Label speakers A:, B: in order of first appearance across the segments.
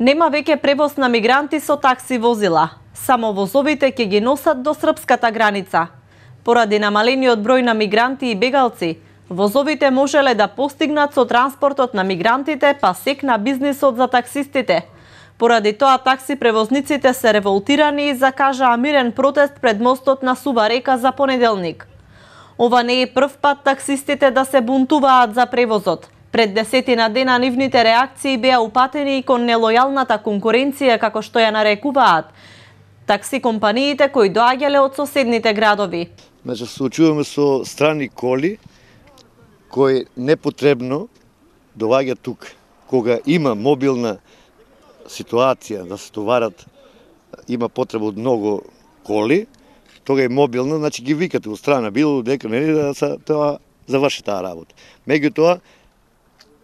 A: Нема веќе превоз на мигранти со такси возила. Само возовите ќе ги носат до српската граница. Поради намалениот број на мигранти и бегалци, возовите можеле да постигнат со транспортот на мигрантите па секна бизнисот за таксистите. Поради тоа такси превозниците се револтирани и закажаа мирен протест пред мостот на Сува река за понеделник. Ова не е прв пат таксистите да се бунтуваат за превозот. Пред 10 дена нивните реакции беа упатени и кон нелојалната конкуренција, како што ја нарекуваат такси компаниите кои доаѓале од соседните градови.
B: Значи, се случуваме со страни коли кои непотребно доаѓаат тук. Кога има мобилна ситуација да се товарат, има потреба од многу коли, тога е мобилно, значи ги викате од страна, било дека нели да се тоа заврши таа работа. Меѓутоа,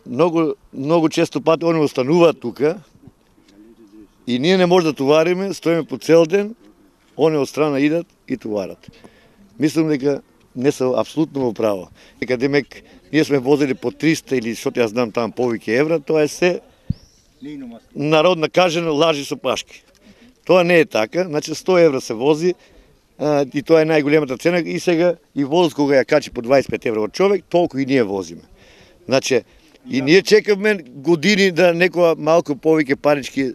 B: многу често пати они остануваат тука и ние не може да товариме, стоиме по цел ден, они од страна идат и товарат. Мислам дека не се апсолутно во право. Дека демек ние сме возили по 300 или што ја знам таму повеќе евра, тоа е се народна кажена лажи со пашки. Тоа не е така, значи 100 евра се вози и тоа е најголемата цена и сега и воз кога ја качи по 25 евра од човек, толку и ние возиме. Значи и ние чекаме години да некоја малку повеќе парички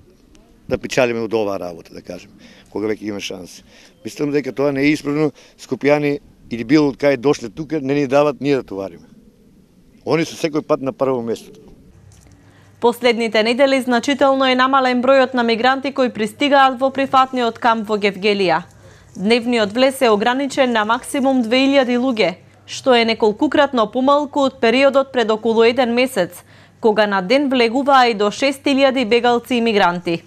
B: да печалиме од оваа работа, да кажем, кога веќе има шанси. Мислам дека тоа не е исправно, скопјани или било од кај дошле тука не ни дават ние да товариме. Они се секој пат на прво место.
A: Последните недели значително е намален бројот на мигранти кои пристигаат во прифатниот камп во Гевгелија. Дневниот влез е ограничен на максимум 2000 луѓе, што е неколкукратно помалку од периодот пред околу 1 месец, кога на ден влегуваа и до 6000 бегалци и мигранти.